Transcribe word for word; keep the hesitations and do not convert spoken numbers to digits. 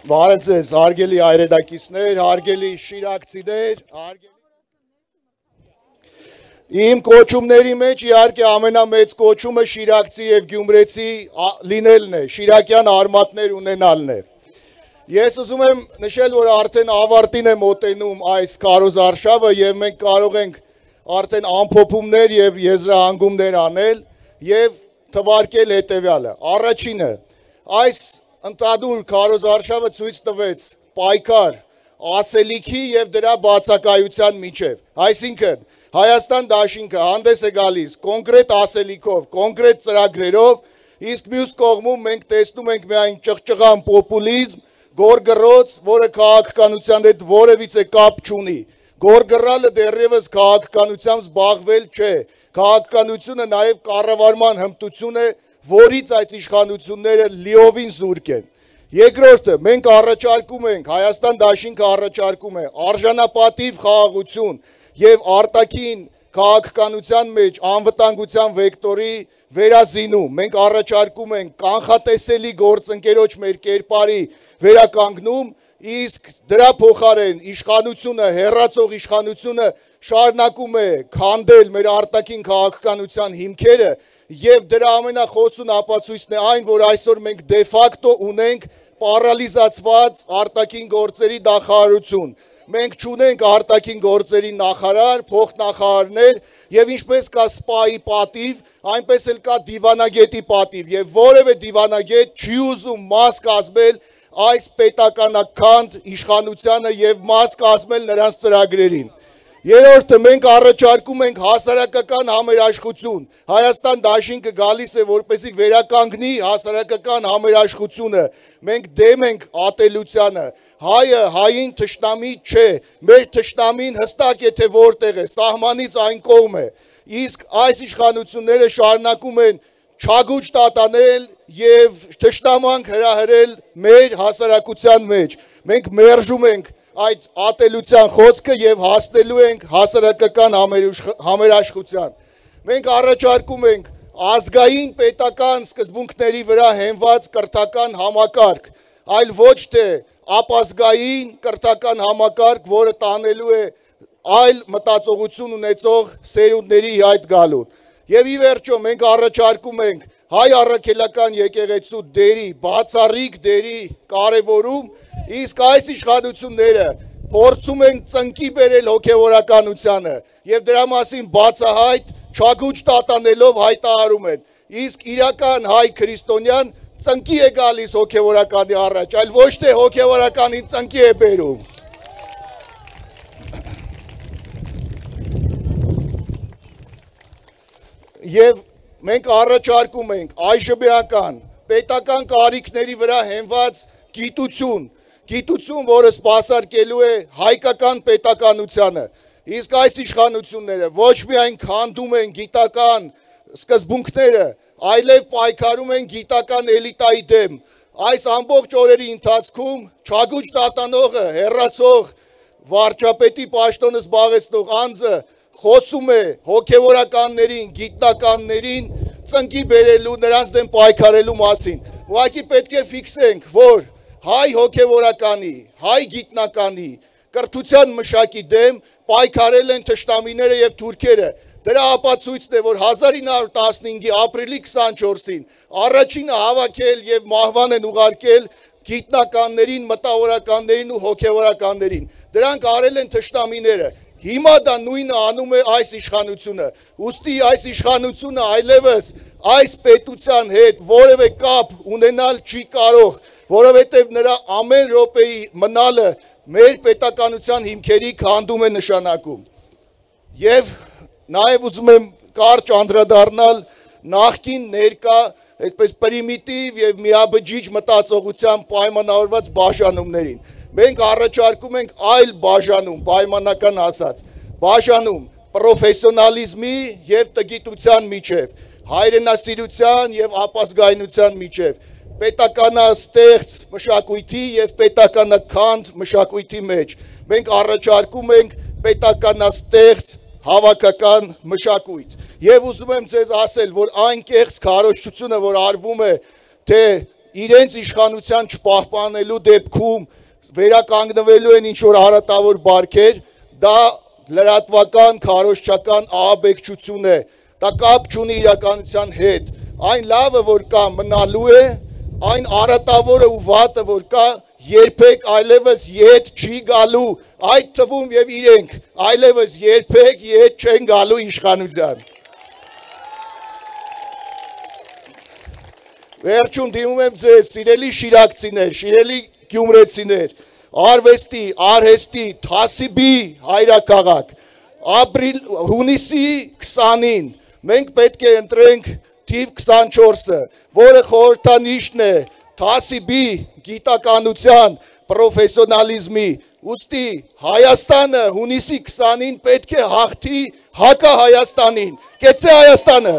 Բարև ձեզ, հարգելի հայրենակիցներ, հարգելի շիրակցիներ, իմ կոչումների մեջ իհարկե ամենամեծ կոչումը շիրակցի եւ գյումրեցի լինելն է, շիրակյան արմատներ ունենալն է։ Ես ուզում եմ նշել, որ արդեն ավարտին է մոտենում այս քարոզարշավը եւ մենք կարող ենք արդեն ամփոփումներ եւ եզրահանգումներ անել եւ թվարկել հետեւյալը։ Առաջինը, այս ընդհանուր քարոզարշավը ցույց տվեց պայքար ասելիքի եւ դրա բացակայության միջև։ Այսինքն Հայաստան դաշինքը հանդես է գալիս կոնկրետ ասելիքով, կոնկրետ ծրագրերով, իսկ մյուս կողմում մենք տեսնում ենք միայն ճղճղան պոպուլիզմ, գորգռոց, որը քաղաքականության հետ որևիցե կապ չունի։ Գորգռալը դեռևս քաղաքականությամբ զբաղվել չէ։ Քաղաքականությունը նաեւ կառավարման հմտություն է, որից այս իշխանությունները լիովին զուրկ են։ Երկրորդը, մենք առաջարկում ենք, Հայաստան դաշինքը առաջարկում է արժանապատիվ խաղաղություն եւ արտաքին քաղաքականության մեջ անվտանգության վեկտորի վերազինում։ Մենք առաջարկում ենք կանխատեսելի գործընկերոջ մեր կերպարի վերականգնում, իսկ դրա փոխարեն իշխանությունը, հեռացող իշխանությունը շարունակում է քանդել մեր արտաքին քաղաքականության հիմքերը եւ դրա ամենախոսուն ապացույցն է այն, որ այսօր մենք դե ֆակտո ունենք պարալիզացված արտաքին գործերի նախարարություն։ Մենք չունենք արտաքին գործերի նախարար, փոխնախարարներ եւ ինչպես կա սպայի պատիվ, այնպես էլ կա դիվանագետի պատիվ եւ որևէ դիվանագետ չի ուզում մաս կազմել այս պետականաքանդ իշխանությանը եւ մաս կազմել նրանց ծրագրերին։ Երրորդը, մենք առաջարկում ենք հասարակական համերաշխություն։ Հայաստան դաշինքը գալիս է որպեսզի վերականգնի հասարակական համերաշխությունը։ Մենք դեմ ենք ատելությանը։ Հայը հային թշնամի չէ։ Մեր թշնամին հստակ է թե որտեղ է, սահմանից այն կողմ է։ Իսկ այս իշխանությունները շարունակում են չագուճ տատանել եւ թշնամանք հրահրել մեր հասարակության մեջ։ Մենք մերժում ենք այդ ատելության խոսքը եւ հասնելու ենք հասարակական համերաշխության։ Մենք առաջարկում ենք ազգային պետական սկզբունքների վրա հենված կրթական համակարգ, այլ ոչ թե ապազգային կրթական համակարգ, որը տանելու է այլ մտածողություն ունեցող սերունդների հայտ գալուն։ Եվ ի վերջո մենք առաջարկում ենք հայ առաքելական եկեղեցու դերի, բացառիկ դերի կարևորում, իսկ այս իշխանությունները փորձում են ծնկի բերել հոգևորականությանը եւ դրա մասին բացահայտ չագուճ տատանելով հայտարարում են։ Իսկ իրական հայ քրիստոնյան ծնկի է գալիս հոգևորականի առաջ, այլ ոչ թե հոգևորականին ծնկի է բերում։ Եվ մենք առաջարկում ենք այժմեական պետական կարիքների վրա հենված գիտություն, գիտություն, որը սպասարկելու է հայկական պետականությանը։ Իսկ այս իշխանությունները ոչ միայն քանդում են գիտական սկզբունքները, այլև պայքարում են գիտական էլիտայի դեմ։ Այս ամբողջ օրերի ընթացքում չագուճ տատանողը, հեռացող վարչապետի պաշտոնը զբաղեցնող անձը խոսում է հոգևորականներին, գիտնականներին ծնկի բերելու, նրանց դեմ պայքարելու մասին։ Ուղղակի պետք է ֆիքսենք, որ հայ հոգևորականի, հայ գիտնականի, կրթության մշակի դեմ պայքարել են թշնամիները եւ թուրքերը։ Դրա ապացույցն է, որ հազար ինը հարյուր տասնհինգի ապրիլի քսանչորսին առաջինը հավաքել եւ մահվան են ուղարկել գիտնականներին, մտավորականներին ու հոգևորականներին։ Դրանք արել են թշնամիները։ Հիմա դա նույնը անում է այս իշխանությունը։ Ուստի այս իշխանությունը այլևս այս պետության հետ որևէ կապ ունենալ չի կարող, որովհետև նրա ամեն րոպեի մնալը մեր պետականության հիմքերի քանդում է նշանակում։ Եվ նաև ուզում եմ կարճ անդրադառնալ նախկին ներկա այդպես պրիմիտիվ եւ միաբջիջ մտածողությամբ պայմանավորված բաժանումներին։ Մենք առաջարկում ենք այլ բաժանում, պայմանական ասած, բաժանում պրոֆեսիոնալիզմի եւ տգիտության միջև, հայրենասիրության եւ ապազգայնության միջև, պետականաստեղծ մշակույթի եւ պետականաքանդ մշակույթի մեջ։ Մենք առաջարկում ենք պետականաստեղծ հավաքական մշակույթ։ Եվ ուզում եմ ձեզ ասել, որ այն կեղծ քարոզչությունը, որ արվում է, թե իրենց իշխանության չպահպանելու դեպքում վերականգնվելու են ինչ որ հարատավոր բարքեր, դա լրատվական, քարոզչական ահաբեկչություն է, դա կապ չունի իրականության հետ, այն լավը, որ կա մնալու է, այն արատավորը ու վատը, որ կա, երբեք այլևս ետ չի գալու, այդ թվում եւ իրենք այլևս երբեք ետ չեն գալու իշխանության։ Վերջում դիմում եմ ձեզ, սիրելի շիրակցիներ, սիրելի գյումրեցիներ, արվեստի, արհեստի, թասիբի հայրաքաղաք, ապրիլ հունիսի քսանին մենք պետք է ընտրենք թիվ քսանչորսը, որը խորհրդանիշն է թասիբի, գիտականության, պրոֆեսիոնալիզմի, ուստի Հայաստանը հունիսի քսանին պետք է հաղթի Հակա Հայաստանին, կեցե Հայաստանը։